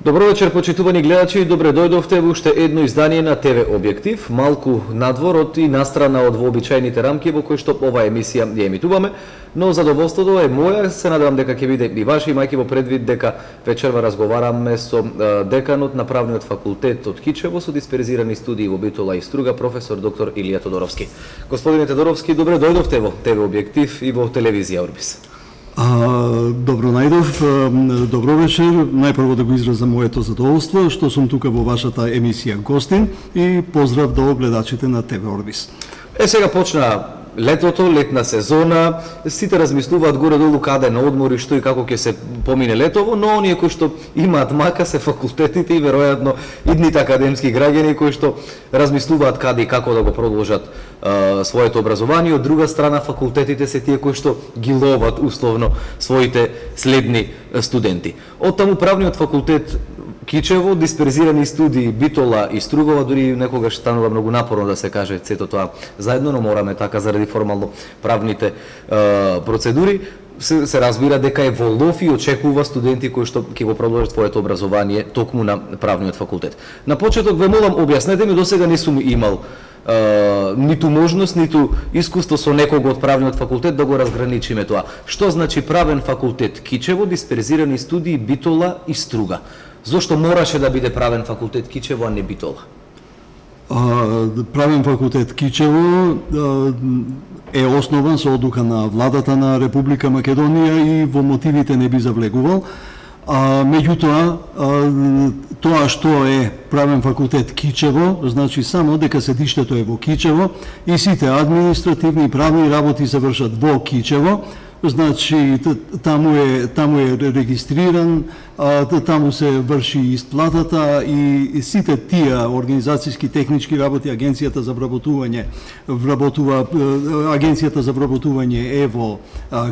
Добро вечер, почитувани гледачи, добре дојдовте во уште едно издание на ТВ Објектив, малку надвор од и настрана од вообичаените рамки во кои што ова емисија ја емитуваме, но задоволството е моја, се надевам дека ќе биде и ваше, имајќи во предвид дека вечерва разговараме со деканот на Правниот факултет од Кичево со дисперзирани студии во Битола и Струга, професор доктор Илија Тодоровски. Господине Тодоровски, добре дојдовте во ТВ Објектив и во телевизија Орбис. Добро најдов, добро вечер. Најпрво да го изразам моето задоволство што сум тука во вашата емисија гостин и поздрав до гледачите на ТВ Орбис. Сега почна летото, летна сезона, сите размислуваат горе-долу каде на одмор и што и како ќе се помине летово, но оние кои што имаат мака се факултетите и веројатно идните академски граѓани кои што размислуваат каде и како да го продолжат своето образование. Од друга страна, факултетите се тие кои што ги ловат условно своите следни студенти. Оттаму Правниот факултет Кичево, дисперзирани студии Битола и Стругова, дури некогаш станува многу напорно да се каже сето тоа заедно, но мораме така заради формално правните процедури. Се разбира дека е во лов и очекува студенти кои што ќе го продолжат своето образование токму на Правниот факултет. На почеток ве молам, објаснете ми, досега не сум имал ниту можност, ниту искуство со некого од Правниот факултет да го разграничиме тоа. Што значи Правен факултет Кичево, дисперзирани студии Битола и Струга? Зошто мораше да биде Правен факултет Кичево, а не Битола? Правен факултет Кичево е основан со одлука на владата на Република Македонија и во мотивите не би завлегувал. Меѓутоа, тоа што е Правен факултет Кичево, значи само дека седиштето е во Кичево и сите административни и правни работи се вршат во Кичево. Значи, таму е регистриран, таму се врши исплатата и сите тие организацијски технички работи, Агенцијата за вработување е во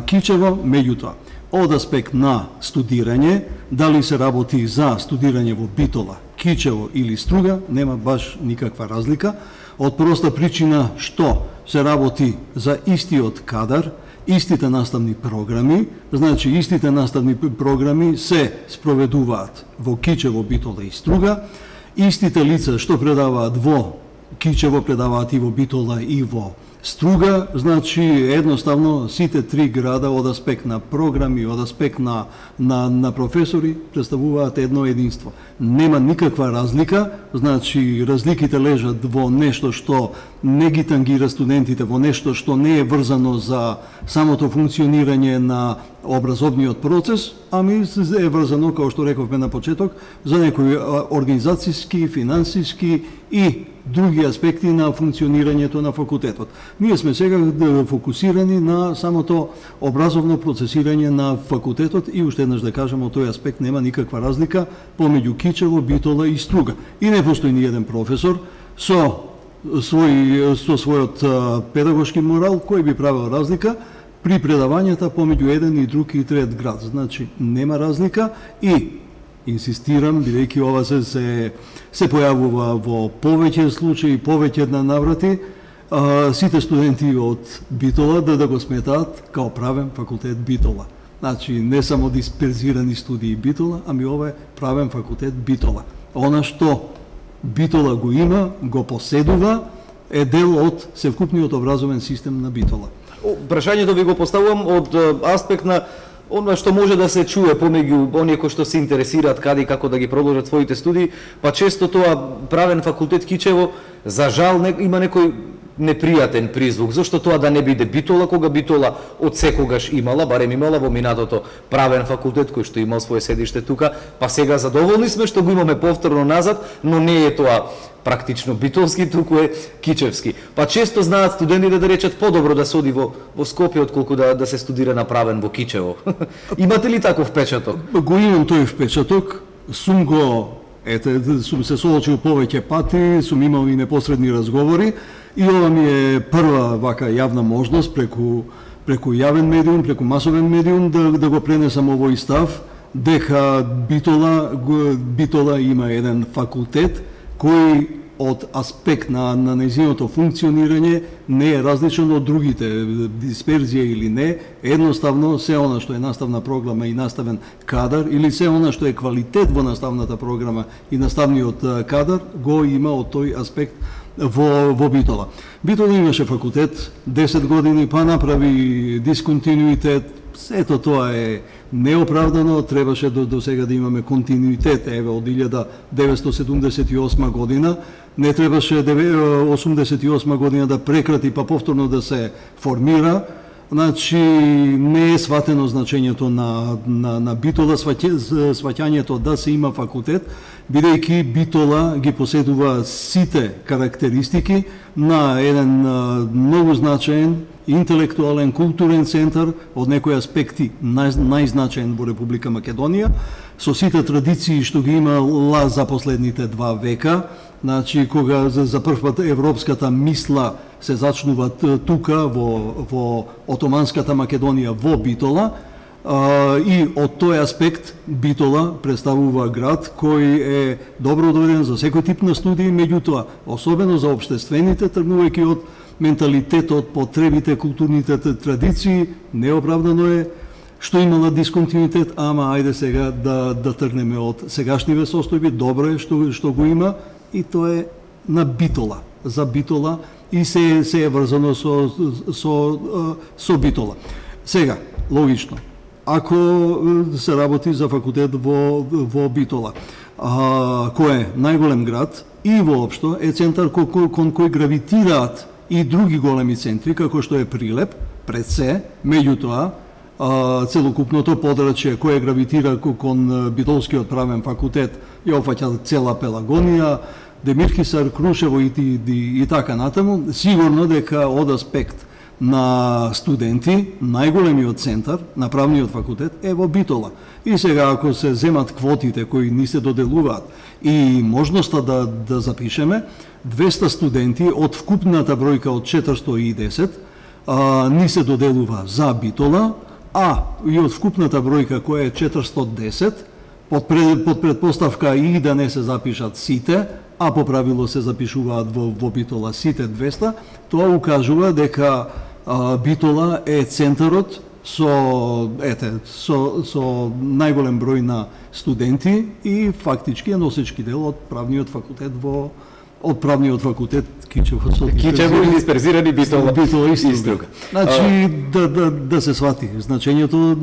Кичево. Меѓутоа, од аспект на студирање, дали се работи за студирање во Битола, Кичево или Струга, нема баш никаква разлика, од проста причина што се работи за истиот кадар, истите наставни програми, значи истите наставни програми се спроведуваат во Кичево, Битола и Струга, истите лица што предаваат во Кичево предаваат и во Битола и во Струга, значи едноставно сите три града од аспект на програми, од аспект на професори представуваат едно единство. Нема никаква разлика, значи разликите лежат во нешто што не ги тангира студентите, во нешто што не е врзано за самото функционирање на образовниот процес, ами е врзано, како што рековме на почеток, за некои организацијски, финансиски и други аспекти на функционирањето на факултетот. Ние сме сега фокусирани на самото образовно процесирање на факултетот и уште еднаш да кажам, од тој аспект нема никаква разлика помеѓу Кичево, Битола и Струга. И не постои ни еден професор со својот педагошки морал кој би правил разлика при предавањата помеѓу еден и друг и трет град. Значи нема разлика и инсистирам, бидејќи ова се појавува во повеќе случаи, повеќе наврати, сите студенти од Битола да го сметаат као Правен факултет Битола. Значи, не само дисперзирани студии Битола, ами ова е Правен факултет Битола. Она што Битола го има, го поседува, е дел од севкупниот образовен систем на Битола. Прашањето ви го поставувам од аспект на она што може да се чуе помеѓу оние кои што се интересираат каде и како да ги продолжат своите студии, па често тоа Правен факултет Кичево, за жал, има некој непријатен призвук. Зошто тоа да не биде Битола, кога Битола од секогаш имала, барем имала во минатото Правен факултет кој што имал свое седиште тука, па сега задоволни сме што го имаме повторно назад, но не е тоа практично битолски, туку е кичевски. Па често знаат студентите да речат подобро да се оди во Скопје отколку да се студира направен во Кичево. Имате ли таков впечаток? Го имам тој впечаток, сум се соочил повеќе пати, сум имал и непосредни разговори и ова ми е прва вака јавна можност преку јавен медиум, преку масовен медиум да го пренесам овој став дека Битола има еден факултет кој од аспект на нејзиното функционирање не е различен од другите, дисперзија или не, едноставно се она што е наставна програма и наставен кадар или се она што е квалитет во наставната програма и наставниот кадар го има од тој аспект во Битола. Битола имаше факултет 10 години, па направи дисконтинуитет. Сето тоа е неоправдано, требаше до сега да имаме континуитет, еве од 1978 година, не требаше 88 година да прекрати па повторно да се формира. Значи не е сватено значењето на Битола, сваќањето да се има факултет, бидејќи Битола ги поседува сите карактеристики на еден многу значаен интелектуален, културен центар, од некои аспекти најзначаен во Република Македонија, со сите традиции што ги имала за последните 2 века. Значи, кога за прв пат европската мисла се зачнува тука, во Отоманската Македонија, во Битола, и од тој аспект Битола представува град кој е добро доведен за секој тип на студии, меѓутоа, особено за обштествените, тргнувајќи од менталитетот, потребите, културните традиции, неоправдано е што имала дисконтинуитет, ама ајде сега да тргнеме од сегашниве состојби, добро е што го има и тоа е на Битола, за Битола и се е врзано со Битола. Сега, логично, ако се работи за факултет во Битола, кој е најголем град и воопшто е центар кон кој гравитираат и други големи центри, како што е Прилеп, пред се, меѓутоа, целокупното подрачје кое гравитира кон Битолскиот правен факултет ја опфаќа цела Пелагонија, Демирхисар, Крушево и така натаму. Сигурно дека од аспект на студенти, најголемиот центар на правниот факултет е во Битола. И сега ако се земат квотите кои ни се доделуваат и можноста да запишеме, 200 студенти од вкупната бројка од 410 ни се доделува за Битола, а и од вкупната бројка која е 410, под предпоставка и да не се запишат сите, а по правило се запишуваат во Битола сите 200, тоа укажува дека Битола е центарот со најголем број на студенти и фактички е носечки дел од правниот факултет Кичево и дисперзирани Битола и струга. Значи да се свати значењето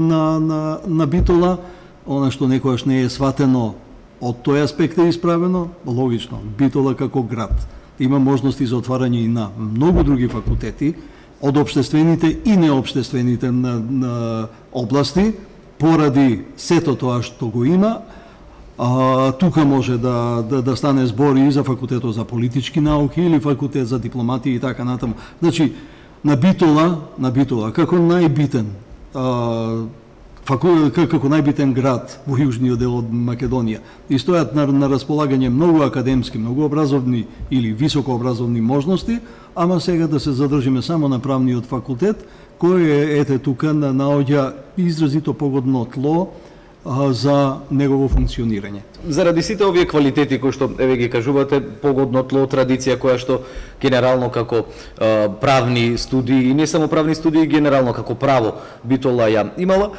на Битола, она што некојаш не е сватено од тој аспект е исправено, логично, Битола како град има можности за отварање и на многу други факултети, од општествените и неопштествените на области, поради сето тоа што го има. Тука може да стане збор и за факултетот за политички науки или факултет за дипломатија и така натаму. Значи, на Битола како најбитен град во јужниот дел од Македонија и стојат на располагање многу академски, многу образовни или високообразовни можности, ама сега да се задржиме само на правниот факултет, кој е тука наоѓа изразито погодно тло за негово функционирање. Заради сите овие квалитети кои што еве ги кажувате, погодно тло, традиција која што генерално како правни студии и не само правни студии, генерално како право Битола ја имала,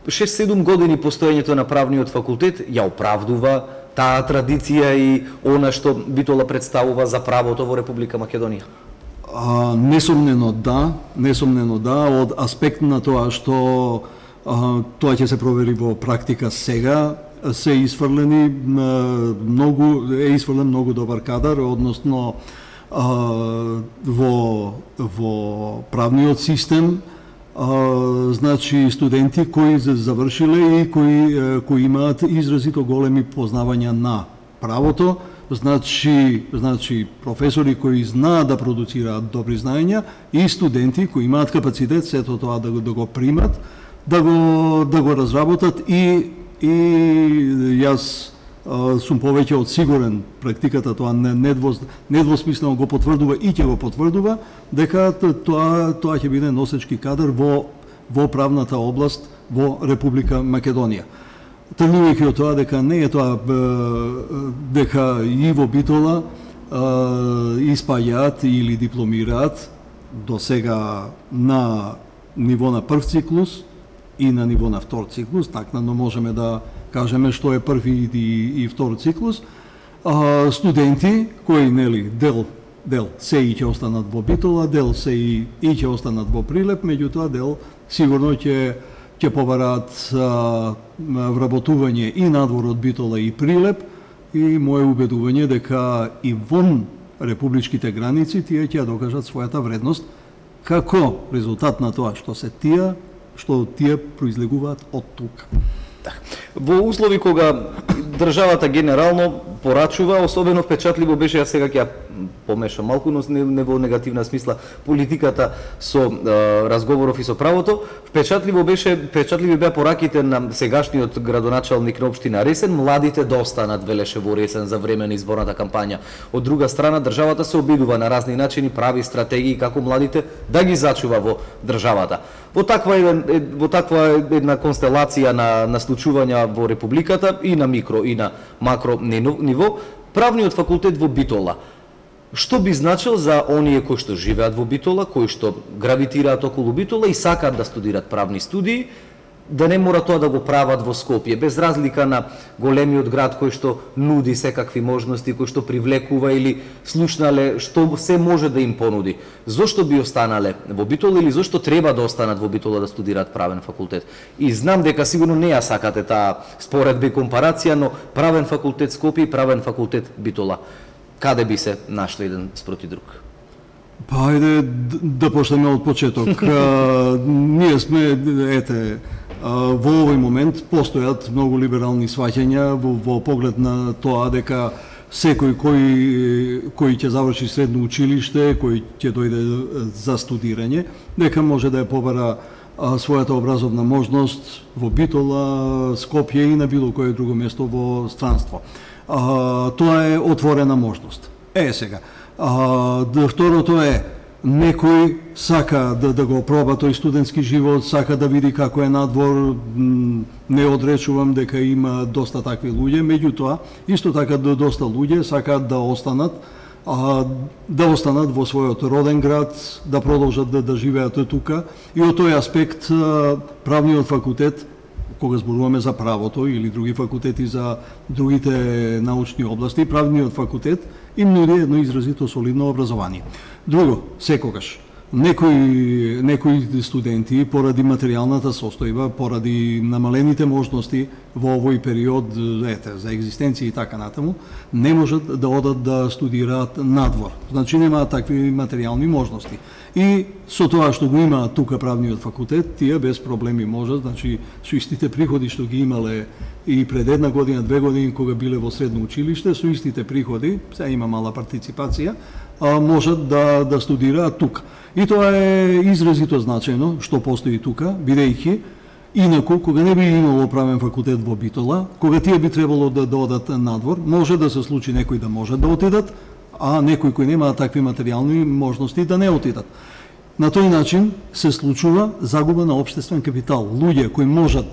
6-7 години постоењето на правниот факултет ја оправдува таа традиција и она што Битола представува за правото во Република Македонија? Несомнено да, од аспект на тоа што тоа ќе се провери во практика сега, е изфрлен многу добар кадар, односно во правниот систем, значи студенти кои завршиле и кои имаат изразито големи познавања на правото, значи професори кои знаат да продуцираат добри знаења и студенти кои имаат капацитет сето тоа да го примат, да го разработат и јас сум повеќе од сигурен, практиката тоа недвосмислено го потврдува и ќе го потврдува, дека тоа ќе биде носечки кадар во правната област во Република Македонија. Тргнувајќи од тоа дека не е тоа дека и во Битола испаѓаат или дипломираат до сега на ниво на прв циклус и на ниво на втор циклус, накнадно можеме да кажеме што е први и втор циклус, студенти кои дел се и ќе останат во Битола, дел се и ќе останат во Прилеп, меѓутоа дел сигурно ќе побараат вработување и надвор од Битола и Прилеп, и мое убедување дека и вон републичките граници тие ќе докажат својата вредност како резултат на тоа што тие произлегуваат од тука. Во услови кога државата генерално порачува, особено впечатливо беше, јас сега ќе помешам малку, но не во негативна смисла, политиката со разговоров и со правото, впечатливи беа пораките на сегашниот градоначалник на општина Ресен, младите да останат, велеше во Ресен за време на изборната кампања. Од друга страна, државата се обидува на разни начини, прави стратегии како младите да ги зачува во државата. Во таква една констелација на случувања во Републиката и на микро и на макро ниво, правниот факултет во Битола, што би значил за оние кои што живеат во Битола, кои што гравитираат околу Битола и сакаат да студираат правни студии, да не мора тоа да го прават во Скопје, без разлика на големиот град кој што нуди секакви можности, кој што привлекува или слушнале што се може да им понуди. Зошто би останале во Битола или зошто треба да останат во Битола да студираат правен факултет? И знам дека сигурно не ја сакате таа споредба и компарација, но правен факултет Скопје и правен факултет Битола, каде би се нашли еден спроти друг? Па ајде да почнеме од почеток. Ние сме, во овој момент постојат многу либерални сваќања во поглед на тоа дека секој кој ќе заврши средно училиште, кој ќе дојде за студирање, дека може да ја побара својата образовна можност во Битола, Скопје и на било кое друго место во странство. Тоа е отворена можност. Сега. Второто е, некој сака да го проба тој студентски живот, сака да види како е надвор, не одречувам дека има доста такви луѓе, меѓутоа, исто така доста луѓе сакаат да останат во својот роден град, да продолжат да живеат тука, и од тој аспект правниот факултет, кога зборуваме за правото или други факултети за другите научни области, правниот факултет им нуди едно изразито солидно образование. Друго, секогаш, некои студенти, поради материјалната состојба, поради намалените можности во овој период за екзистенција и така натаму, не можат да одат да студираат надвор. Значи немаат такви материјални можности. И со тоа што го има тука правниот факултет, тие без проблеми можат, значи со истите приходи што ги имале и пред една година, 2 години кога биле во средно училиште, со истите приходи, сега има мала партиципација, можат да студираат тука. И тоа е изразито значајно што постои тука, бидејќи инаку кога не би имало правен факултет во Битола, кога тие би требало да одат надвор, може да се случи некои да можат да отидат, а некои кои немаат такви материјални можности да не отидат. На тој начин се случува загуба на општествен капитал. Луѓе кои можат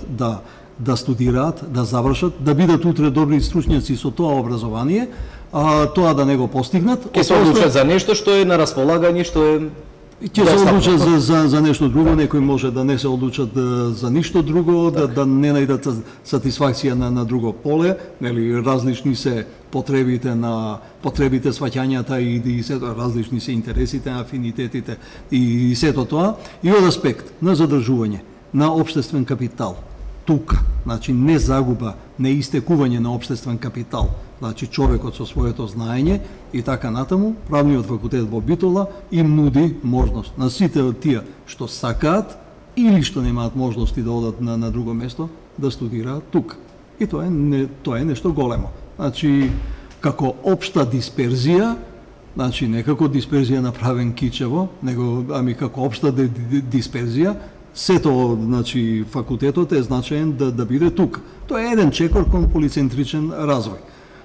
да студираат, да завршат, да бидат утре добри стручњаци со тоа образование, тоа да не го постигнат, ќе се одлучат за нешто што е на располагање, што е ќе се одлучат за нешто друго, некои може да не се одлучат за ништо друго, да не најдат сатисфакција на друго поле, нели различни се потребите сваќањата и сето различни се интересите, афинитетите и сето тоа, и од аспект на задржување на општествен капитал. Тука, значи не загуба, не истекување на општествен капитал, значи човекот со своето знаење и така натаму, правниот факултет во Битола им нуди можност на сите од тие што сакаат или што немаат можности да одат на друго место, да студираат тука. И тоа е нешто големо. Значи, како општа дисперзија, значи не како дисперзија направен кичево, него како општа дисперзија, сето, значи факултетот е значаен да биде тука. Тоа е еден чекор кон полицентричен развој.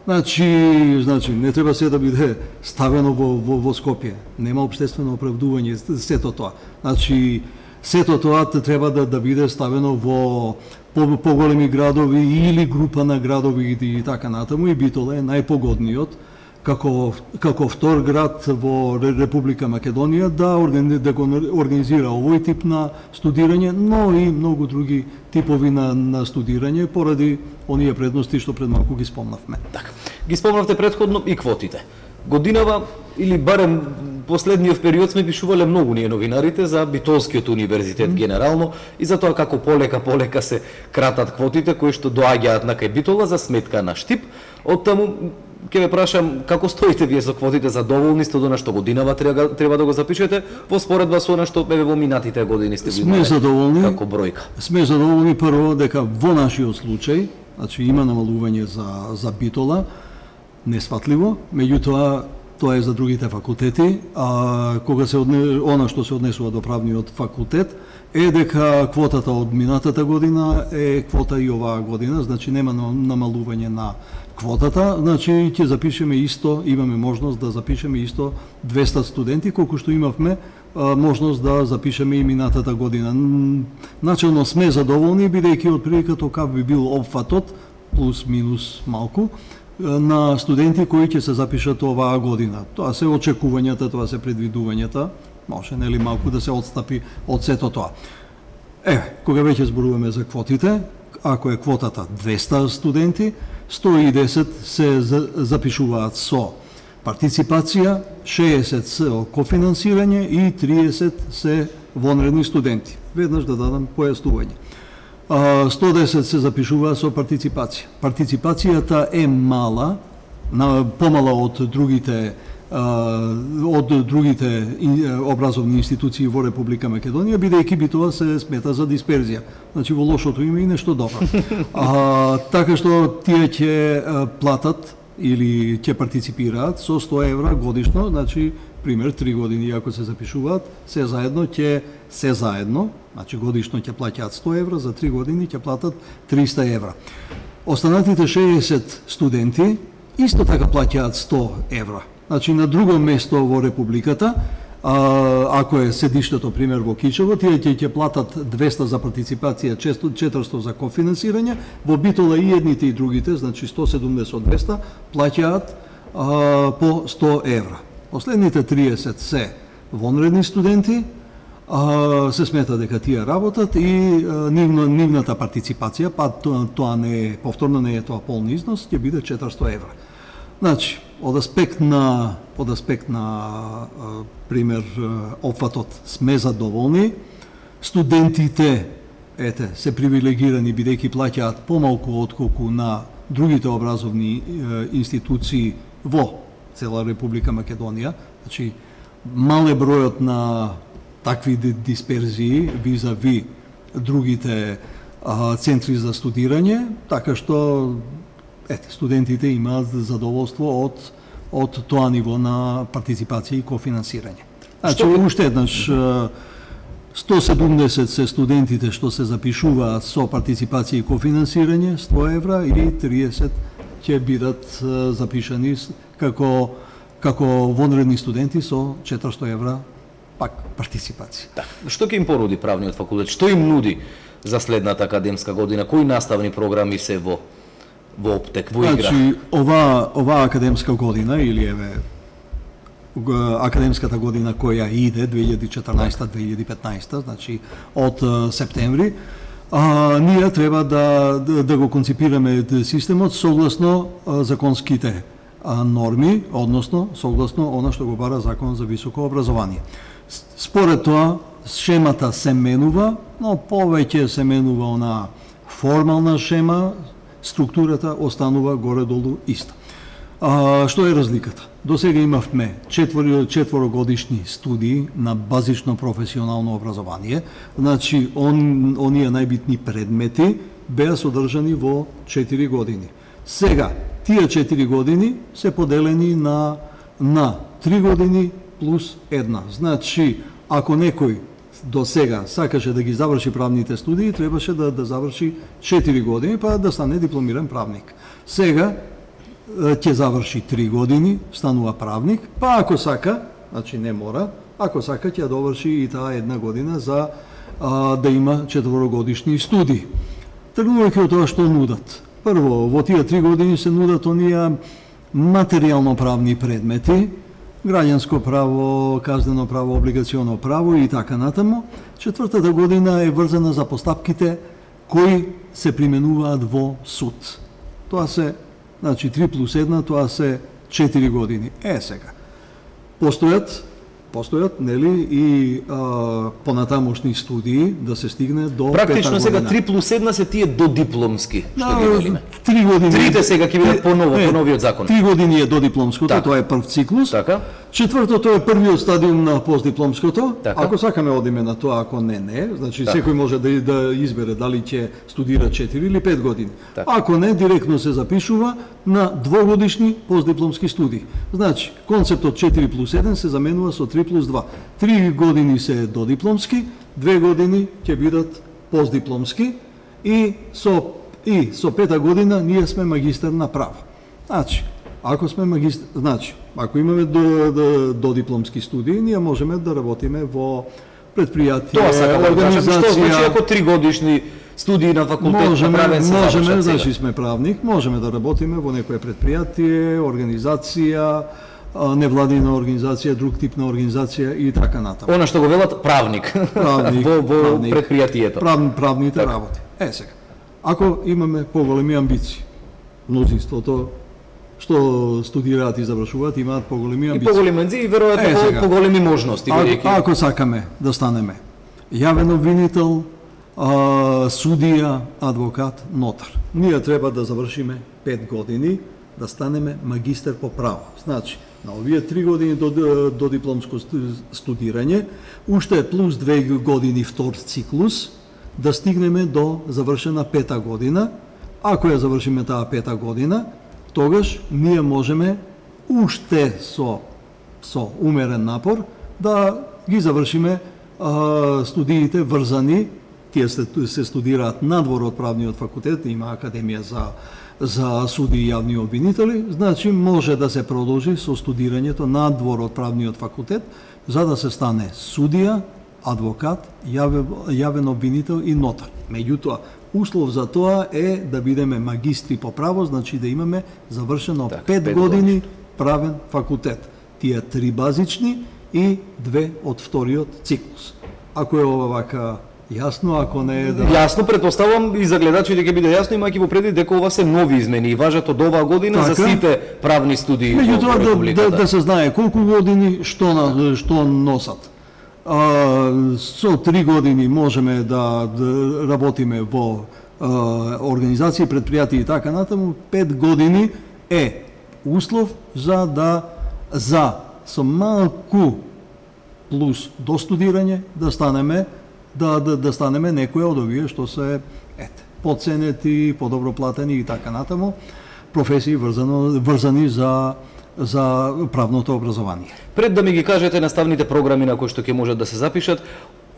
Значи не треба се да биде ставено во Скопје. Нема општествено оправдување сето тоа. Значи сето тоа треба да биде ставено во поголеми градови или група на градови и така натаму, и Битола е најпогодниот како втор град во Република Македонија да го организира овој тип на студирање, но и многу други типови на студирање поради оние предности што пред малку ги спомнавме. Така. Ги спомнавте претходно и квотите. Годинава или барем последниот период сме пишувале многу ние новинарите за Битолскиот универзитет генерално и за тоа како полека се кратат квотите кои што доаѓаат на кај Битола за сметка на Штип. Оттаму ќе ве прашам како стоите вие со квотите, задоволни сте од она што годинава треба да го запишете во споредба со она што во минатите години сте сме задоволни како бројка. Сме задоволни прво дека во нашиот случај, значи има намалување за Битола, несфатливо, меѓутоа тоа е за другите факултети, а кога она што се однесува до правниот факултет е дека квотата од минатата година е квота и оваа година, значи нема намалување на квотата, значи ќе запишеме исто, имаме можност да запишеме исто 200 студенти, колку што имавме можност да запишеме и минатата година. Начелно сме задоволни, бидејќи отприлика токав би бил опфатот, плюс минус малку, на студенти кои ќе се запишат оваа година. Тоа се очекувањата, тоа се предвидувањата, може нели малку да се отстапи од сето тоа. Кога веќе зборуваме за квотите, ако е квотата 200 студенти, 110 се запишуваат со партиципација, 60 со кофинансирање и 30 се вонредни студенти. Веднаш да дадам појаснување. 110 се запишува со партиципација. Партиципацијата е мала, помала од другите образовни институции во Република Македонија, бидејќи би тоа се смета за дисперзија. Значи во лошото има и нешто добро. Така што тие ќе платат или ќе партиципираат со 100 евра годишно, значи пример 3 години ако се запишуваат, се заедно, значи годишно ќе плаќаат 100 евра, за 3 години ќе платат 300 евра. Останатите 60 студенти исто така плаќаат 100 евра. Значи на друго место во Републиката, ако е седиштето пример во Кичево, тие ќе платат 200 за партиципација, 400 за кофинансирање, во Битола и едните и другите, значи 170 од 200, плаќаат по 100 евра. Последните 30 се вонредни студенти, се смета дека тие работат и нивната партиципација, па тоа не е повторно, не е тоа полни износ, ќе биде 400 евра. Значи, од аспект на пример опфатот сме задоволни, студентите се привилегирани бидејќи плаќаат помалку отколку на другите образовни институции во цела Република Македонија, значи мал е бројот на такви дисперзии визави другите центри за студирање, така што студентите имаат задоволство од тоа ниво на партиципација и кофинансирање. Значи, уште еднаш 170 се студентите што се запишуваат со партиципација и кофинансирање, 100 евра, и 30 ќе бидат запишани како вонредни студенти со 400 евра пак партиципација. Да. Што ќе им понуди правниот факултет? Што им нуди за следната академска година? Кои наставни програми се во оптек, во игра? Значи, ова академска година, или академската година која иде 2014-2015, значи од септември, ние треба да го конципираме системот согласно законските норми, односно согласно она што го бара Закон за високо образование. Според тоа, шемата се менува, но повеќе се менува она формална шема, структурата останува горе-долу иста. Што е разликата? До сега имавме 4 студии на базично професионално образование, значи оние најбитни предмети беа содржани во 4 години. Сега, тие 4 години се поделени на 3 години плюс 1. Значи, ако некој до сега сакаше да ги заврши правните студии, требаше да заврши 4 години, па да стане дипломиран правник. Сега ќе заврши 3 години, станува правник, па ако сака, значи не мора, ако сака ќе доврши и таа 1 година за да има 4-годишни студии. Тргнувајќи од тоа што нудат. Прво, во тие 3 години се нудат оние материјално правни предмети, граѓанско право, казнено право, облигационо право и така натаму. 4-та година е врзана за постапките кои се применуваат во суд. Тоа се, значи 3 плюс 1, тоа се 4 години. Сега, постојат, нели, и понатамошни студии да се стигне до практично сега 3 плюс 1 се тие додипломски, што ги велиме. 3 години. Трите сега ќе бидат по новиот закон. 3 години е додипломското, тоа е прв циклус. Така. Четвртото е првиот стадиум на постдипломското. Така. Ако сакаме одиме на тоа, ако не, значи така. Секој може да избере дали ќе студира 4 или 5 години. Така. Ако не, директно се запишува на 2-годишни постдипломски студии. Значи, концептот 4 плюс 1 се заменува со 3 плюс 2. 3 години се додипломски, 2 години ќе бидат постдипломски и со 5-та година ние сме магистар на право. Значи, ако сме магистар, значи, ако имаме додипломски студии, ние можеме да работиме во предпријатие, тоа сакам да кажам, што значи ако 3 годишни студии на факултет на правен се можеме, значи сме правник, можеме да работиме во некое предпријатие, организација, невладина организација, друг тип на организација и така натаму. Она што го велат правник во предпријатието. Правните работи. Сега, ако имаме поголеми амбиции, мнозинството што студираат и завршуваат имаат поголеми амбиции. И поголеми амбиции и веројатно поголеми можности. Ако сакаме да станеме јавен обвинител, судија, адвокат, нотар, ние треба да завршиме 5 години, да станеме магистар по право. Значи, на овие 3 години до дипломско студирање, уште плюс 2 години втор циклус, да стигнеме до завршена 5-та година. Ако ја завршиме таа 5-та година, тогаш ние можеме уште со умерен напор да ги завршиме студиите врзани. Тие се студираат надвор од правниот факултет, има академија за суди и јавни обвинители, значи може да се продолжи со студирањето надвор од правниот факултет, за да се стане судија, адвокат, јавен обвинител и нотар. Меѓутоа, услов за тоа е да бидеме магистри по право, значи да имаме завршено 5 години правен факултет. Тие 3 базични и 2 од вториот циклус. Ако е ова вака јасно, ако не е Јасно, претпоставам и за гледачите ќе биде јасно, имајќи во предвид дека ова се нови измени и важат од оваа година за сите правни студии во Републиката. Да се знае колку години што носат. Со 3 години можеме да работиме во организации, предпријатија и така натаму. 5 години е услов за со малку плюс до студирање да станеме некои од овие што се поценети, подобро платени и така натаму професии врзани за правното образование. Пред да ми ги кажете наставните програми на кои што ќе можат да се запишат,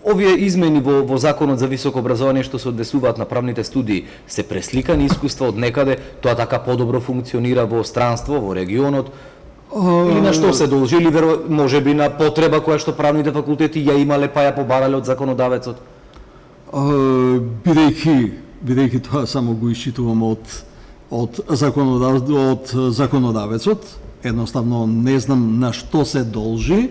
овие измени во Законот за високо образование што се однесуваат на правните студии се пресликани искуства од некаде, тоа така подобро функционира во странство, во регионот, или на што се должи, или можеби на потреба која што правните факултети ја имале па ја побарале од законодавецот? Бидејќи тоа само го исчитувам од законодавецот, едноставно не знам на што се должи.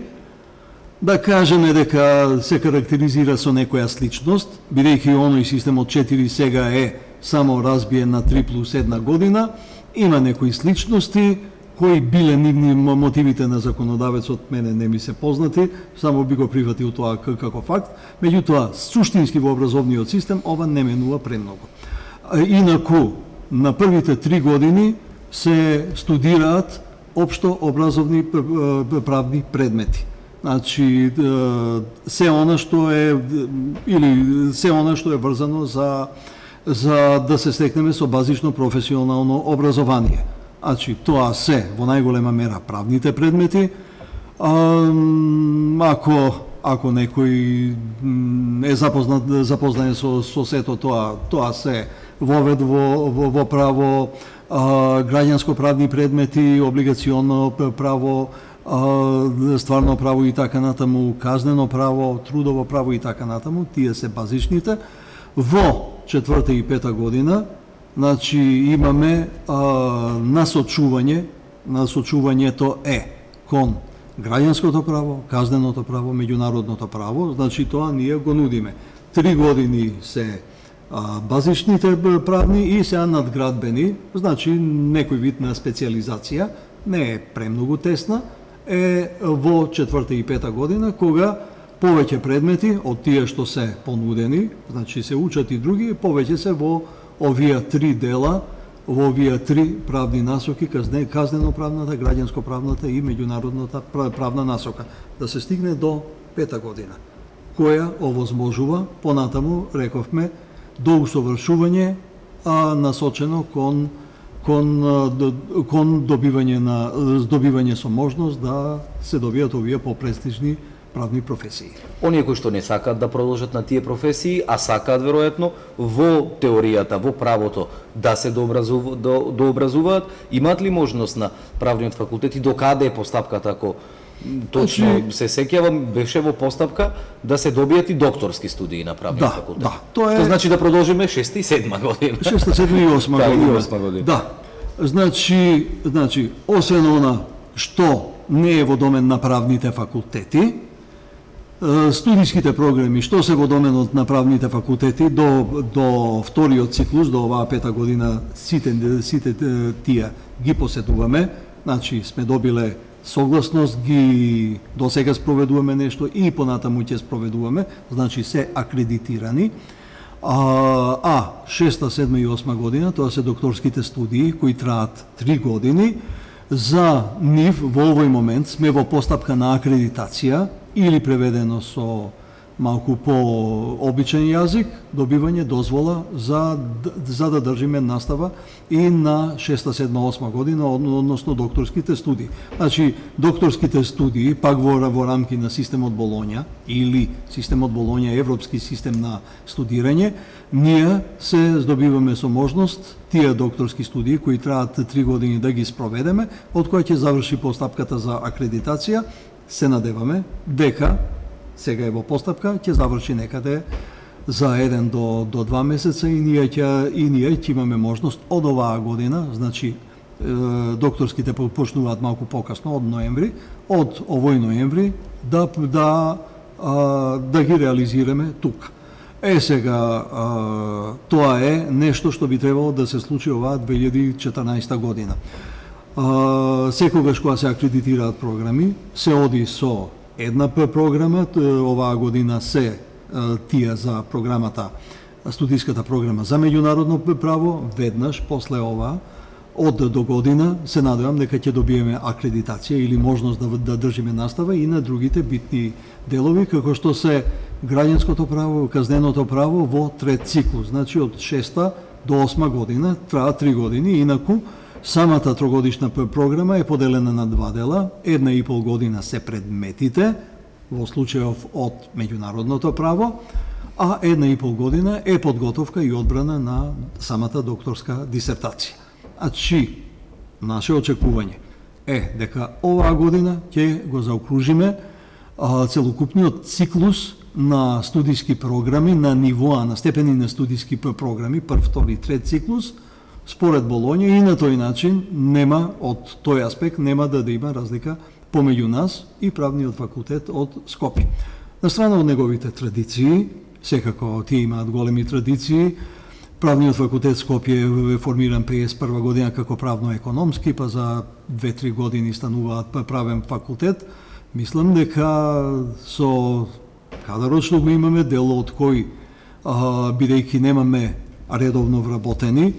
Да кажеме дека се карактеризира со некоја сличност, бидејќи оној системот 4 сега е само разбиен на 3 плюс 1 година, има некои сличности, кои биле нивни мотивите на законодавецот, мене не ми се познати, само би го прифатил тоа како факт, меѓутоа, суштински во образовниот систем, ова не менува премногу. Инаку, на првите 3 години се студираат општо образовни правни предмети. Значи, се она што е врзано за да се стекнеме со базично професионално образование. Значи, тоа се во најголема мера правните предмети. Ако некој е запознат со сето тоа се вовед во право, граѓанско правни предмети, облигационно право, стварно право и така натаму, казнено право, трудово право и така натаму, тие се базичните. Во 4-та и 5-та година, значи имаме насочување, насочувањето е кон граѓанското право, казненото право, меѓународното право, значи тоа ние го нудиме. 3 години се базичните правни и се надградбени, значи некој вид на специализација, не е премногу тесна, е во 4-та и 5-та година, кога повеќе предмети од тие што се понудени, значи се учат и други, повеќе се во овие 3 дела, во овие 3 правни насоки, казнено-правната, граѓанско-правната и меѓународната правна насока, да се стигне до 5-та година, која овозможува, понатаму, рековме, до усовршување, насочено кон добивање со можност да се добијат овие попрестижни правни професии. Оние кои што не сакаат да продолжат на тие професии, а сакаат веројатно во теоријата, во правото да се дообразуваат, имаат ли можност на правниот факултет и докаде е постапката, ако точно се сеќавам, беше во постапка да се добијат и докторски студии на правниот факултет. Да, тоа Што значи да продолжиме 6-та и 7-ма година. 6-та, 7-та и 8-ма година. Да. Значи, освен она што не е во домен на правните факултети, студиските програми што се во доменот на правните факултети до вториот циклус, до оваа 5-та година, сите тие ги поседуваме, значи сме добиле согласност, ги до сега спроведуваме нешто и понатаму ќе спроведуваме, значи се акредитирани. 6-та, 7-та и 8-та година, тоа се докторските студии кои траат 3 години. За нив во овој момент сме во постапка на акредитација или преведено со малку по-обичен јазик, добивање дозвола за да држиме настава и на 6-та, 7-та, 8-та година, односно докторските студии. Значи, докторските студии, пак во рамки на системот Болоња, или системот Болоња европски систем на студирање, ние се здобиваме со можност тие докторски студии, кои траат 3 години да ги спроведеме, од која ќе заврши постапката за акредитација, се надеваме дека сега е во постапка, ќе заврши некаде за 1 до 2 месеца и ние ќе имаме можност од оваа година, значи докторските почнуваат малку покасно, од ноември, од овој ноември да ги реализираме тука. Сега, тоа е нешто што би требало да се случи оваа 2014 година. Секогаш кога се акредитираат програми, се оди со една програма, оваа година се тие за програмата, студиската програма за меѓународно право, веднаш после ова, од до година, се надевам дека ќе добиеме акредитација или можност да држиме настава и на другите битни делови, како што се граѓанското право, казненото право во трет циклус, значи од 6-та до 8-ма година, траа 3 години, инаку самата трогодишна програма е поделена на 2 дела, 1,5 година се предметите, во случајов од меѓународното право, а 1,5 година е подготовка и одбрана на самата докторска дисертација. Значи, наше очекување е дека оваа година ќе го заокружиме целокупниот циклус на студиски програми на нивоа, на степени на студиски програми, прв, втори, трет циклус, според Болоња, и на тој начин нема, од тој аспект, нема да има разлика помеѓу нас и правниот факултет од Скопје. На страна од неговите традиции, секако тие имаат големи традиции, правниот факултет Скопје е формиран 51 година како правно-економски, па за 2-3 години стануваат правен факултет. Мислам дека со кадарот што го имаме, дел од кој, бидејќи немаме редовно вработени,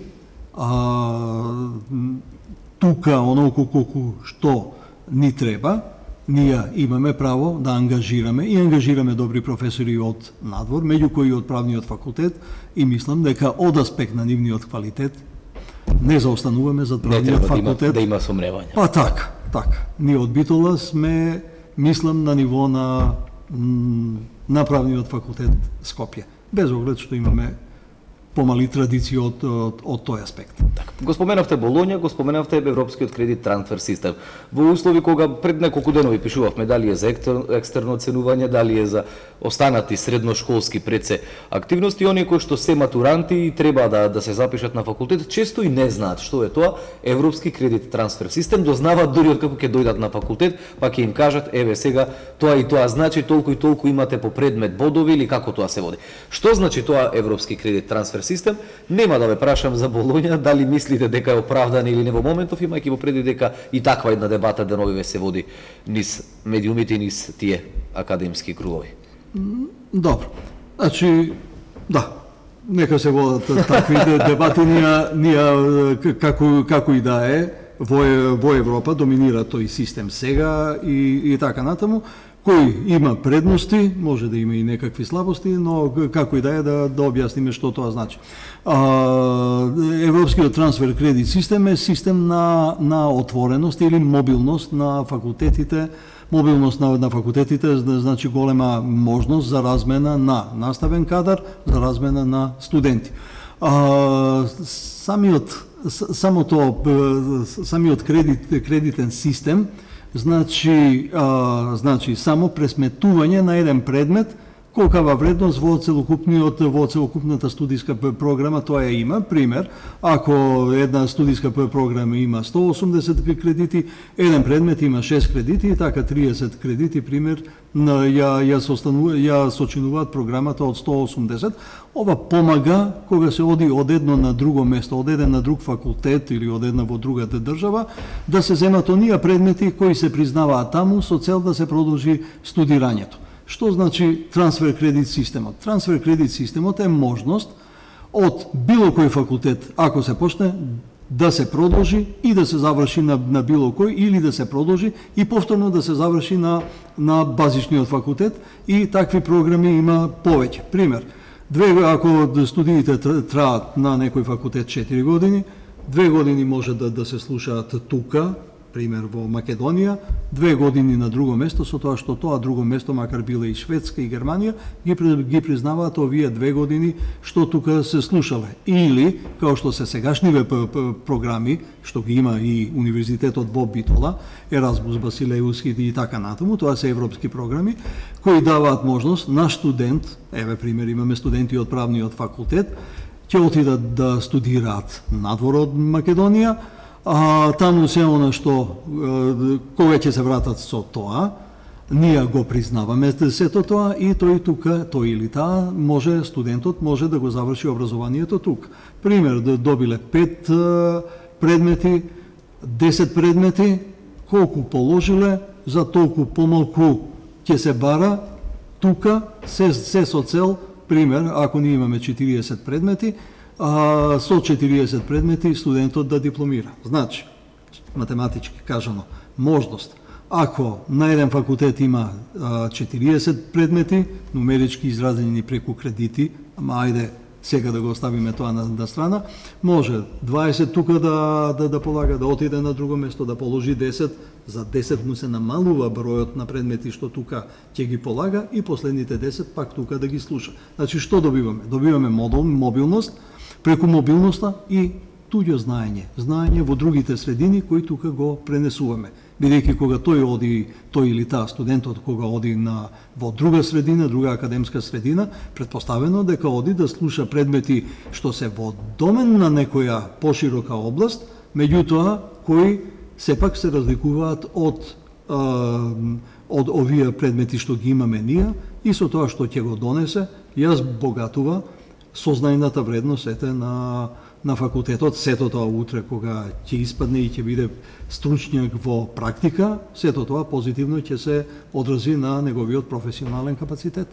тука онолку колку што ни треба, ние имаме право да ангажираме и ангажираме добри професори од надвор, меѓу кои од правниот факултет, и мислам дека од аспект на нивниот квалитет не заостануваме за правниот факултет. Да има сомневање. Па така. Ние од Битола сме, мислам, на ниво на правниот факултет Скопје. Без оглед што имаме помали традиции од тој аспект. Така. Го споменавте Болоња, го споменавте Европскиот кредит трансфер систем. Во услови кога пред неколку денови пишувавме дали е за екстерно оценување, дали е за останати средношколски предсе активности, оние кои што се матуранти и треба да се запишат на факултет, често и не знаат што е тоа Европски кредит трансфер систем, дознаваат дури откако ќе дојдат на факултет, па ќе им кажат еве сега тоа и тоа значи толку и толку имате по предмет бодови или како тоа се води. Што значи тоа Европски кредит трансфер систем? Нема да ве прашам за Болоња, дали мислите дека е оправдан или не во моментов, имајќи во преди дека и таква една дебата деновиве се води низ медиумите и низ тие академски кругови. Добро. Значи, да, нека се водат такви дебати, ние како и да е, во Европа доминира тој систем сега и така натаму. Кој има предности, може да има и некакви слабости, но како и да е да објасниме што тоа значи. Европскиот трансфер кредит систем е систем на отвореност или мобилност на факултетите. Мобилност на факултетите значи голема можност за размена на наставен кадар, за размена на студенти. Самиот кредитен систем значи само пресметување на еден предмет, колкава вредност во целокупната студиска програма тоа има. Пример, ако една студиска програма има 180 кредити, еден предмет има 6 кредити и така 30 кредити, пример, ја сочинуваат програмата од 180. Ова помага кога се оди од едно на друго место, од еден на друг факултет или од една во другата држава, да се земат оние предмети кои се признаваат таму со цел да се продолжи студирањето. Што значи трансфер кредит системот? Трансфер кредит системот е можност од било кој факултет, ако се почне, да се продолжи и да се заврши на било кој, или да се продолжи и повторно да се заврши на базичниот факултет, и такви програми има повеќе. Пример, ако студиите траат на некој факултет 4 години, 2 години може да се слушаат тука, пример во Македонија, 2 години на друго место, со тоа што тоа друго место, макар биле и Шведска и Германија, ги признаваат овие 2 години што тука се слушале. Или, као што се сегашниве програми, што ги има и Универзитетот во Битола, Еразмус, Басилеуски и така натаму, тоа се европски програми, кои даваат можност на студент, еве пример, имаме студенти од правниот факултет, ќе отидат да студираат надвор од Македонија, таму се она што кога ќе се вратат со тоа, ние го признаваме сето тоа и тој тука, тој или таа студентот може да го заврши образованието тука. Пример, добиле 5 предмети, 10 предмети, колку положиле, за толку помалку ќе се бара тука, се со цел, пример, ако ние имаме 40 предмети, со 40 предмети студентот да дипломира. Значи, математички кажано, можност. Ако на еден факултет има 40 предмети, нумерички изразени преку кредити, ама ајде сега да го оставиме тоа на страна, може 20 тука да полага, да отиде на друго место, да положи 10, за 10 му се намалува бројот на предмети што тука ќе ги полага и последните 10 пак тука да ги слуша. Значи, што добиваме? Добиваме мобилност, преку мобилноста и туѓо знаење во другите средини кои тука го пренесуваме. Бидејќи кога тој или таа студентот кога оди во друга средина, друга академска средина, предпоставено дека оди да слуша предмети што се во домен на некоја поширока област, меѓутоа кои сепак се разликуваат од овие предмети што ги имаме ние, и со тоа што ќе го донесе, ја збогатува сознајната вредност на факултетот. Сето тоа утре кога ќе испадне и ќе биде стручњак во практика, сето тоа позитивно ќе се одрази на неговиот професионален капацитет.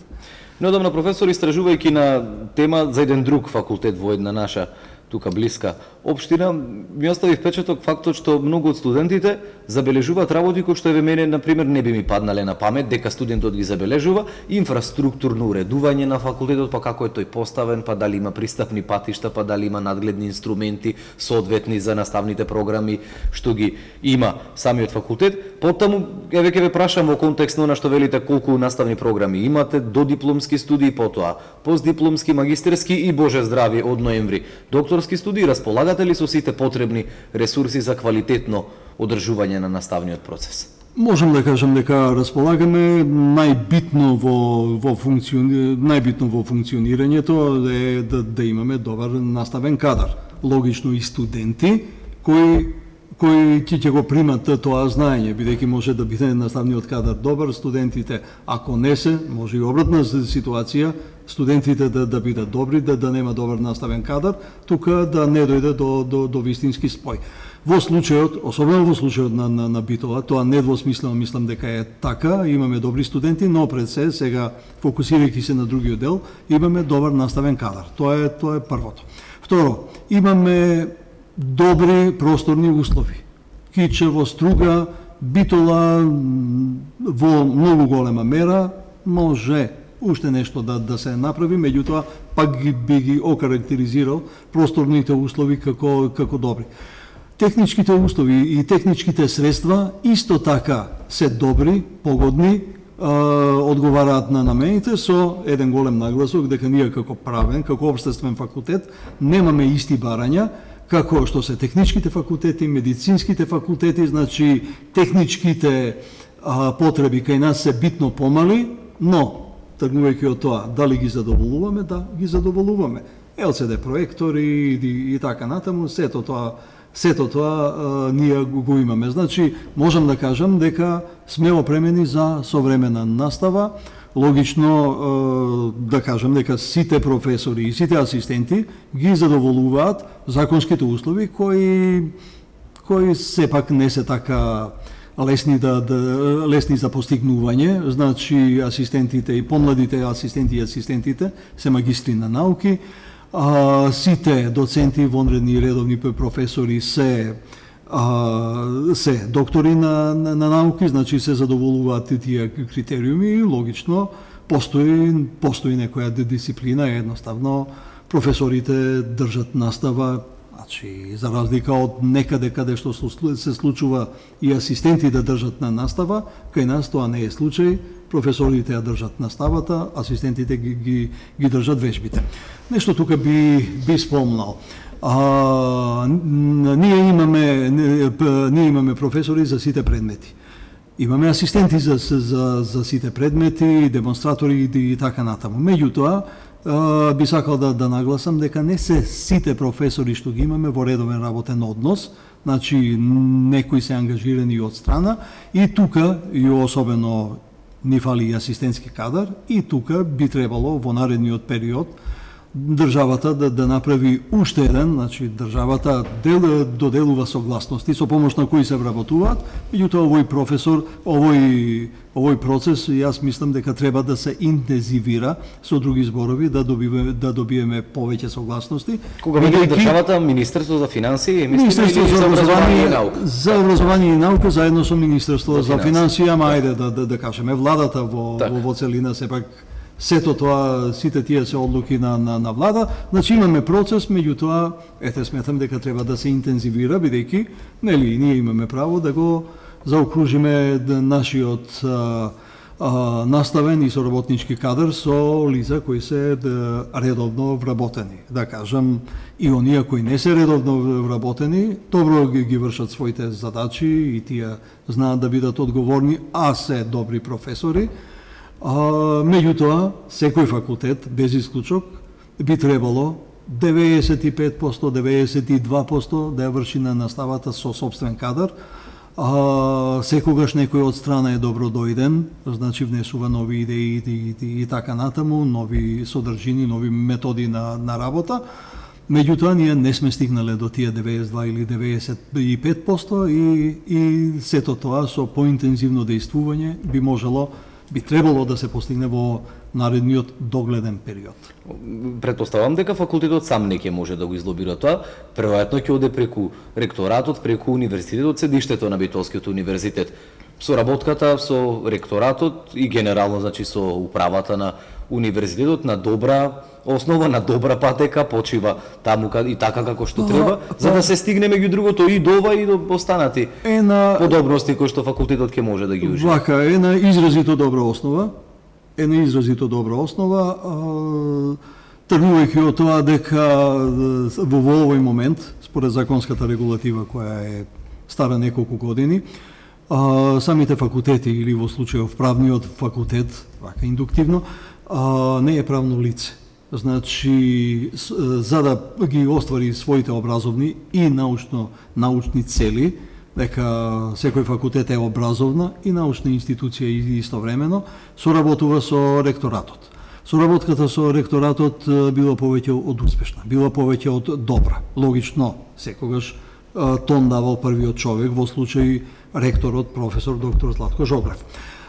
Неодамна, професор, истражувајќи на тема за еден друг факултет во една наша тука блиска општина, ми остави впечаток фактот што многу од студентите забележуваат работи кои што еве мене на пример не би ми паднале на памет дека студентот ги забележува, инфраструктурно уредување на факултетот, па како е тој поставен, па дали има пристапни патишта, па дали има надгледни инструменти соодветни за наставните програми што ги има самиот факултет. Потаму еве ќе ве прашам во контекст на она што велите колку наставни програми имате, додипломски студии, потоа постдипломски, магистерски и боже здрави од ноември докторски студии, располагате ли со сите потребни ресурси за квалитетно одржување на наставниот процес? Можам да кажам дека располагаме. Најбитно во функционирањето е да имаме добар наставен кадар. Логично и студенти кои ќе го примат тоа знаење, бидејќи може да биде наставниот кадар добар, студентите ако не се, може и обратна ситуација, студентите да бидат добри, да нема добар наставен кадар, тука да не дојде до вистински спој. Во случајот, особено во случајот на Битола, тоа недвосмислено мислам дека е така, имаме добри студенти, но пред се, сега фокусирајќи се на другиот дел, имаме добар наставен кадар. Тоа е првото. Второ, имаме добри просторни услови. Кичево, Струга, Битола во многу голема мера може уште нешто да се направи, меѓутоа пак би ги окарактеризирал просторните услови како добри. Техничките услови и техничките средства исто така се добри, погодни, одговараат на намените со еден голем нагласок дека ние како правен, како општествен факултет немаме исти барања како што се техничките факултети, медицинските факултети, значи техничките потреби кај нас се битно помали, но тргнувајќи од тоа дали ги задоволуваме, да ги задоволуваме. ЛЦД проектори и така натаму, сето тоа ние го имаме. Значи, можам да кажам дека сме опремени за современа настава. Логично да кажам дека сите професори и сите асистенти ги задоволуваат законските услови кои сепак не се така лесни за постигнување. Значи, асистентите и помладите асистенти и асистентите се магистри на науки, сите доценти, вонредни и редовни професори се доктори на науки, значи се задоволуваат тие критериуми и логично постои некоја дисциплина, едноставно професорите држат настава, значи за разлика од некаде каде што се случува и асистенти да држат на настава, кај нас тоа не е случај. Професорите ја држат наставата, асистентите ги држат вежбите. Нешто тука би спомнал. Ние имаме професори за сите предмети. Имаме асистенти за сите предмети, демонстратори и така натаму. Меѓутоа, би сакал да нагласам дека не се сите професори што ги имаме во редовен работен однос, значи некои се ангажирани од страна и тука, и особено ни фали и асистентски кадар, и тука би требало во наредниот период државата да направи уште еден, значи државата доделува согласности со помош на кои се вработуваат, меѓутоа овој професор, овој процес, јас мислам дека треба да се интензивира, со други зборови, да добиеме повеќе согласности. Кога вели државата, Министерство за финансии, Министерство за образование и наука. За образование и наука заедно со Министерство за финансии, ама ајде да кажеме владата во целина сепак. Сето тоа, сите тие се одлуки на влада, значи имаме процес, меѓутоа, сметам дека треба да се интензивира, бидејќи, нели, ние имаме право да го заокружиме нашиот наставен и соработнички кадар со лица кои се редовно вработени. Да кажам, и оние кои не се редовно вработени, добро ги вршат своите задачи и тие знаат да бидат одговорни, а се добри професори. Меѓутоа, секој факултет, без исклучок, би требало 95%, 92% да ја врши на наставата со собствен кадар. Секогаш некој од страна е добро дојден, значи внесува нови идеи и така натаму, нови содржини, нови методи на работа. Меѓутоа, ние не сме стигнале до тие 92 или 95% и сето тоа со поинтензивно дејствување би можело би требало да се постигне во наредниот догледен период. Претпоставам дека факултетот сам не ќе може да го излобира тоа, веројатно ќе оде преку ректоратот, преку универзитетот, седиштето на Битолскиот универзитет. Соработката со ректоратот и генерално, значи со управата на универзитетот на добра основа, на добра патека почива таму и така како што треба, за да се стигне меѓу другото и до ова и до останати подобности кои што факултетот ќе може да ги ужива. Вака е на изразито добра основа. Тргувајќи од тоа дека во овој момент, според законската регулатива која е стара неколку години, самите факултети или во случајов правниот факултет, вака индуктивно, не е правно лице. Значи, за да ги оствари своите образовни и научни цели, дека секој факултет е образовна и научна институција истовремено, соработува со ректоратот. Соработката со ректоратот била повеќе од успешна, била повеќе од добра. Логично, секогаш тон давал првиот човек, во случај ректорот, професор доктор Златко Жогрев.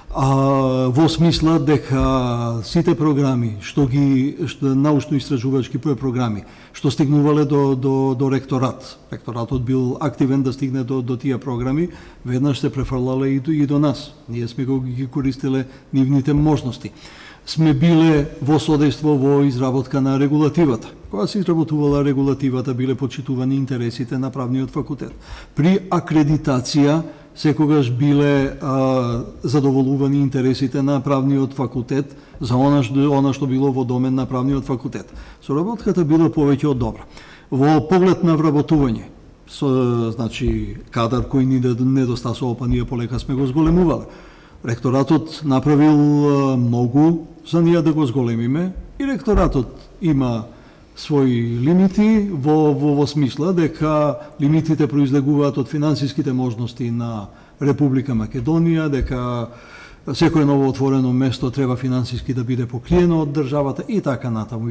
Во смисла дека сите програми, научно-истражувачки програми, што стигнувале до ректоратот бил активен да стигне до тие програми, веднаш се префрлале и до нас. Ние сме ги користеле нивните можности. Сме биле во содејство во изработка на регулативата. Кога се изработувала регулативата, биле почитувани интересите на правниот факултет. При акредитација секогаш биле задоволувани интересите на правниот факултет за она што било во домен на правниот факултет. Соработката била повеќе од добра. Во поглед на вработување, значи кадар кој ни недостасува, па ние полека сме го зголемувале. Ректоратот направил многу за ние да го зголемиме и ректоратот има своји лимити во смисла дека лимитите произлегуваат од финансиските можности на Република Македонија, дека секое ново отворено место треба финансиски да биде покриено од државата и така натаму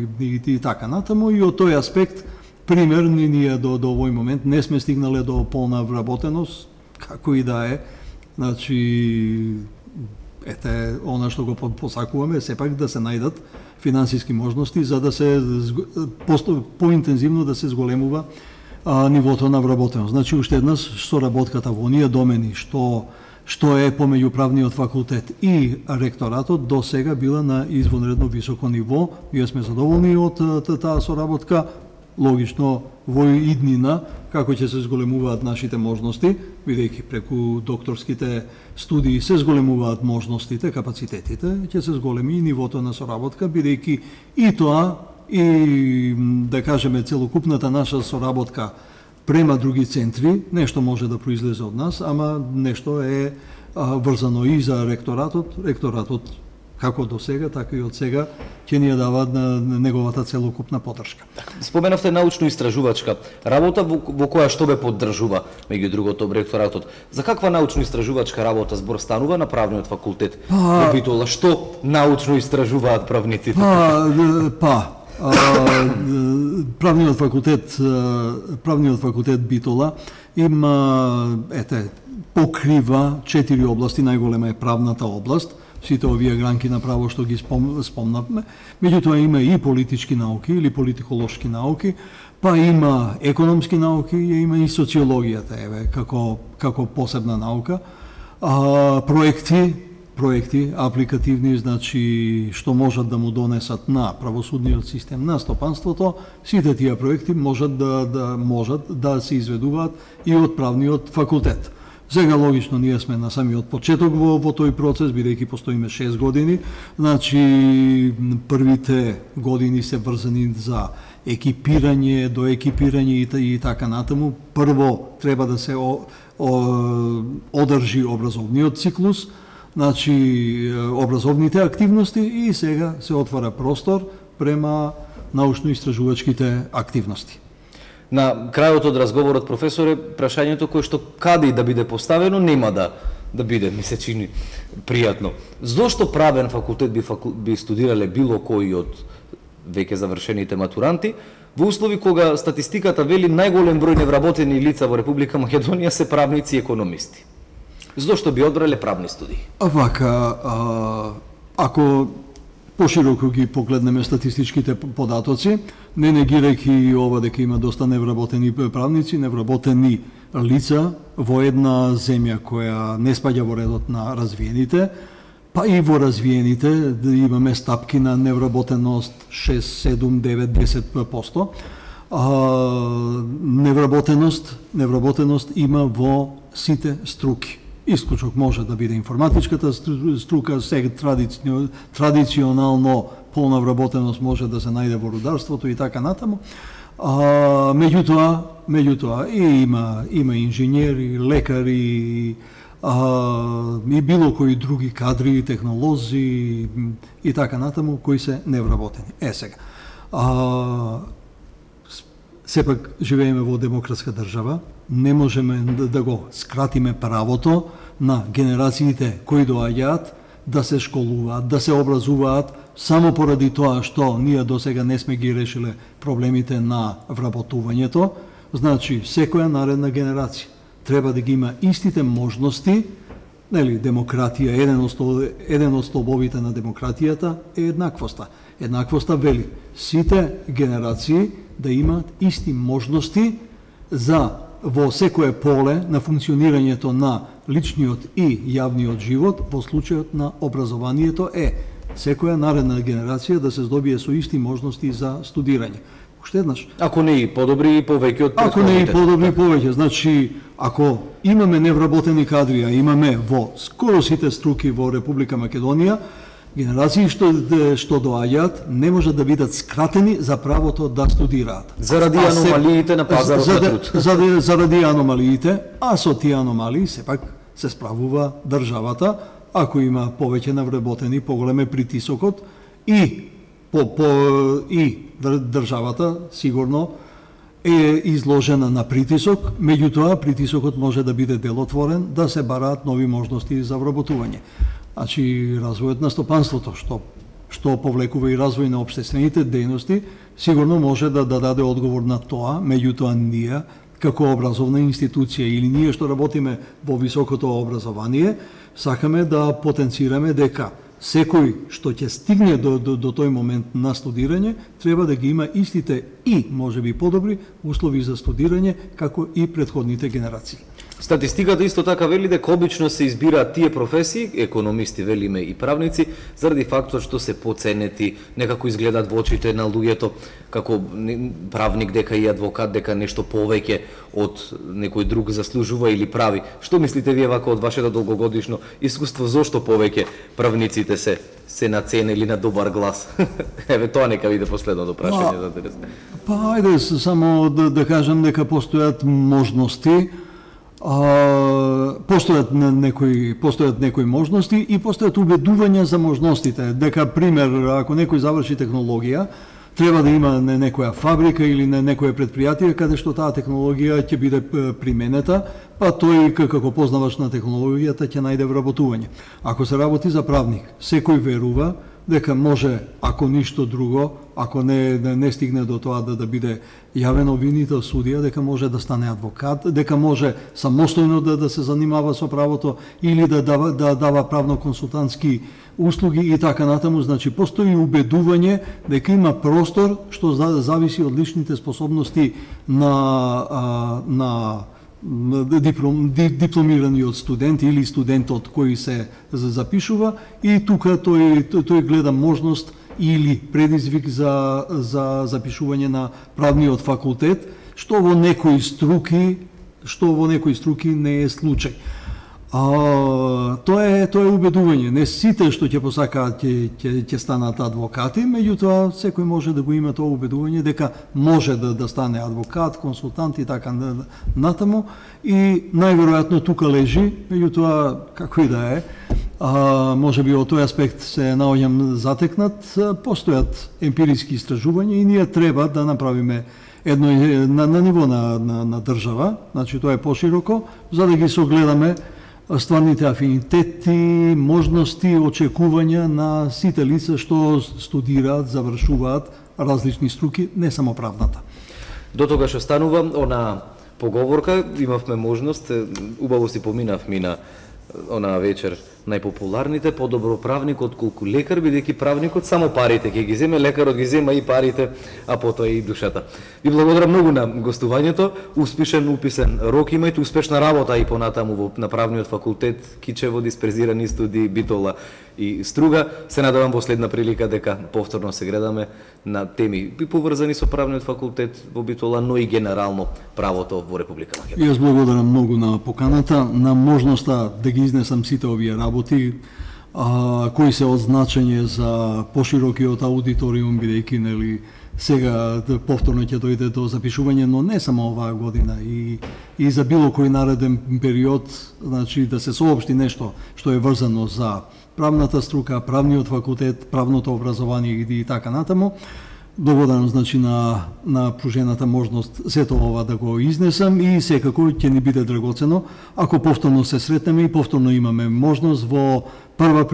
и од тој аспект пример ние до овој момент не сме стигнале до полна вработеност, како и да е. Значи она што го посакуваме сепак да се најдат финансиски можности за да се поинтензивно да се зголемува нивото на вработеност. Значи уште еднаш соработката во оние домени што е помеѓу правниот факултет и ректоратот до сега била на извонредно високо ниво. Ние сме задоволни од таа соработка. Логично во иднина како ќе се зголемуваат нашите можности, бидејќи преку докторските студии се зголемуваат можностите, капацитетите, ќе се зголеми и нивото на соработка, бидејќи и тоа и да кажеме целокупната наша соработка према други центри, нешто може да произлезе од нас, ама нешто е врзано и за ректоратот. Ректоратот како до сега, така и од сега, ќе ни ја даваат на неговата целокупна поддршка. Споменавте научно-истражувачка работа во која што бе поддржува, меѓу другото, ректоратот. За каква научно-истражувачка работа збор станува на правниот факултет во Битола? Што научно истражуваат правниците? Правниот факултет Битола има покрива 4 области, најголема е правната област. Сите овие гранки на право што ги спомнавме, меѓутоа има и политички науки или политиколошки науки, па има економски науки, има и социологијата како посебна наука, проекти апликативни, значи што можат да му донесат на правосудниот систем, на стопанството, сите тие проекти можат да се изведуваат и од правниот факултет. Сега логично ние сме на самиот почеток во тој процес, бидејќи постоиме 6 години, значи првите години се врзани за екипирање, доекипирање и така натаму. Прво треба да се одржи образовниот циклус, значи образовните активности и сега се отвара простор према научно-истражувачките активности. На крајот од разговорот, професоре, прашањето кое што каде и да биде поставено нема да биде, ми се чини пријатно. Зошто правен факултет би студирале било кој од веќе завршените матуранти во услови кога статистиката вели најголем број невработени лица во Република Македонија се правници и економисти? зошто би одбрале правни студии? Вака, ако пошироко ги погледнеме статистичките податоци, не негирајќи ова дека има доста невработени правници, невработени лица во една земја која не спаѓа во редот на развиените, па и во развиените имаме стапки на невработеност 6, 7, 9, 10%. Невработеност има во сите струки. Исклучок може да биде информатичката струка, сега традиционално полна вработеност може да се најде во рударството и така натаму. Меѓутоа има инженери, лекари, и било кои други кадри, технолози и така натаму кои се невработени. Сега. Сепак живееме во демократска држава, не можеме да го скратиме правото на генерациите кои доаѓаат да се школуваат, да се образуваат само поради тоа што ние досега не сме ги решиле проблемите на вработувањето. Значи, секоја наредна генерација треба да ги има истите можности, нели, демократија, еден од столбовите на демократијата е еднаквоста. Еднаквоста вели сите генерации да имаат исти можности за во секое поле на функционирањето на личниот и јавниот живот, во случајот на образованието секоја наредна генерација да се здобие со исти можности за студирање. Уште еднаш. Ако не и подобри и повеќе од претходните. Ако не и подобри повеќе, значи ако имаме невработени кадри, а имаме во скоро сите струки во Република Македонија, генерации што доаѓаат не може да бидат скратени за правото да студираат. Заради аномалиите на пазарот на труд. Заради аномалиите, а со тие аномалии сепак се справува државата, ако има повеќе навработени, поголем е притисокот и државата сигурно е изложена на притисок, меѓутоа притисокот може да биде делотворен, да се бараат нови можности за вработување. Значи, развојот на стопанството, што повлекува и развој на општествените дејности, сигурно може да даде одговор на тоа, меѓутоа ние, како образовна институција или ние што работиме во високото образование, сакаме да потенцираме дека секој што ќе стигне до тој момент на студирање, треба да ги има истите и, можеби подобри, услови за студирање, како и претходните генерации. Статистиката исто така вели дека обично се избираат тие професии, економисти велиме и правници, заради фактот што се поценети, некако изгледаат во очите на луѓето како правник, дека и адвокат, дека нешто повеќе од некој друг заслужува или прави. Што мислите вие вака од вашето долгогодишно искуство, зошто повеќе правниците се наценели на добар глас? Еве тоа нека биде последното прашање за денес. Па ајде само да кажам дека постојат можности, постојат некои можности и постојат убедувања за можностите, дека пример ако некој заврши технологија, треба да има некоја фабрика или некое предпријатие каде што таа технологија ќе биде применета, па тој како познавач на технологијата ќе најде вработување. Ако се работи за правник, секој верува дека може, ако ништо друго, ако не стигне до тоа да биде јавен обвинител судија, дека може да стане адвокат, дека може самостојно да се занимава со правото или да дава правно-консултантски услуги и така натаму. Значи, постои убедување дека има простор што зависи од личните способности на дипломираниот студент или студентот кој се запишува, и тука тој гледа можност или предизвик за запишување на правниот факултет, што во некои струки не е случај. Тоа е убедување. Не сите што ќе посакаат ќе станат адвокати, меѓутоа секој може да го има тоа убедување дека може да стане адвокат, консултант и така натаму, и најверојатно тука лежи, меѓутоа како и да е, може би од тој аспект се наоѓам затекнат, постојат емпириски истражувања и ние треба да направиме едно на ниво на држава, значи тоа е пошироко, за да ги согледаме стварните афинитети, можности, очекувања на сите лица што студираат, завршуваат различни струки, не само правната. До тогаш останува она поговорка, имавме можност, убаво си поминавме на онаа вечер најпопуларните, подобро правник отколку лекар, бидејќи правникот само парите ќе ги земе, лекарот ги зема и парите, а потоа и душата. Ви благодарам многу на гостувањето, успешен уписен рок имајте, успешна работа и понатаму на правниот факултет, Кичево, дисперзирани студии, Битола и Струга. Се надевам во следна прилика дека повторно се гледаме на теми поврзани со правниот факултет во Битола, но и генерално правото во Република Македонија. Јас благодарам многу на поканата, на можноста да ги изнесам сите овие работи, кои се од значење за поширокиот аудиториум, бидејќи нели сега повторно ќе дојде до запишување, но не само оваа година, и за било кој нареден период, значи да се соопшти нешто што е врзано за правната струка, правниот факултет, правното образование и така натаму. Благодарам, значи, на пружената можност сето ова да го изнесам и секако ќе ни биде драгоцено ако повторно се сретнеме и повторно имаме можност во прва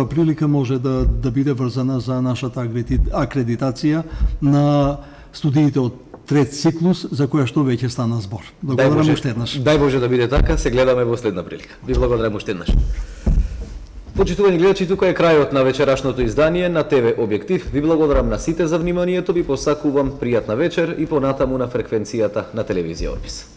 прилика може да биде врзана за нашата акредитација на студиите од трет циклус, за која што веќе стана збор. Благодарам уште еднаш. Дај Боже да биде така, се гледаме во следна прилика. Ви благодарам уште еднаш. Почитувани гледачи, тука е крајот на вечерашното издание на ТВ Објектив. Ви благодарам на сите за вниманието, ви посакувам пријатна вечер и понатаму на фреквенцијата на телевизија Орбис.